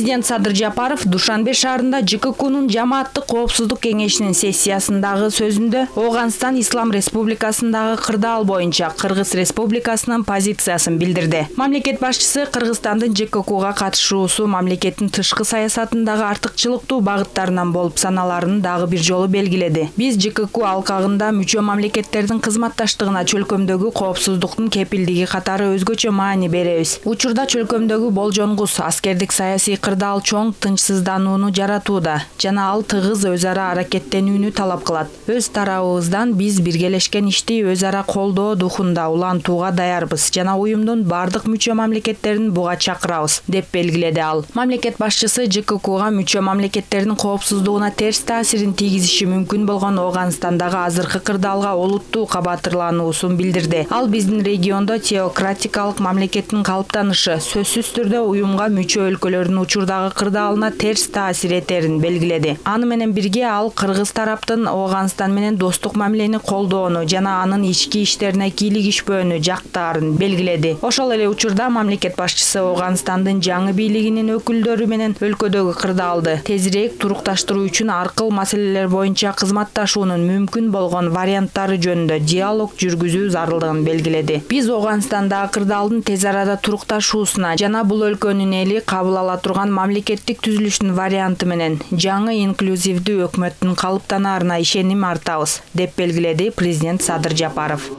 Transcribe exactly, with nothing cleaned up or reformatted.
Президент Садыр Жапаров Душанбе шаарында Ж К Кнун жамааттык коопсуздук кеңешинин сессиясындагы сөзүндө Ооганстан Ислам Республикасындагы кырдаал боюнча Кыргыз Республикасынын позициясын билдирди. Мамлекет башчысы Кыргызстандын Ж К Кга катышуусу мамлекеттин тышкы саясатындагы артыкчылыктуу багыттарынан болуп саналарын дагы бир жолу белгиледи. Биз Ж К К алкагында мүчө мамлекеттердин кызматташтыгына чөлкөмдөгү коопсуздуктун кепилдиги катары өзгөчө маани беребиз. Учурда чөлкөмдөгү болжонгус аскердик саясий кырдаал чоң тынчсызданууну жаратууда жана ал тыгыз өз ара аракеттенүүнү талап кылат. Өз тарабыбыздан биз биргелешкен ишти өз ара колдоо духунда улантууга даярбыз жана уюмдун бардык мүчө мамлекеттерин буга чакырабыз, деп белгиледи ал. Мамлекет башчысы Ж К Кга мүчө мамлекеттердин коопсуздугуна терс таасирин тийгизиши мүмкүн болгон Ооганстандагы азыркы кырдаалга олуттуу кабатырлануусун билдирди. Ал биздин региондо теократикалык мамлекеттин калыптанышы сөзсүз түрдө уюмга мүчө өлкөлөрдүн учурдагы кырдаалына терс таасир этерин белгиледи. Аны менен бирге ал кыргыз тараптын Ооганстан менен достук мамилени колдоону жана анын ички иштерине кийлигишпөөнү жактаарын белгиледи. Ошол эле учурда мамлекет башчысы Ооганстандын жаңы бийлигинин өкүлдөрү менен өлкөдөгү кырдаалды тезирээк турукташтыруу үчүн аркыл маселелер боюнча кызматташуунун мүмкүн болгон варианттары жөнүндө диалог жүргүзүү зарылдыгын белгиледи. Биз Ооганстандагы кырдаалдын тез арада турукташуусуна жана бул өлкөнүн эли кабыл ала турган мамлекеттик түзүлүштүн варианты менен жаңы инклюзивдүү өкмөттүн калыптанаарына ишеним артабыз, деп белгиледи президент Садыр Жапаров.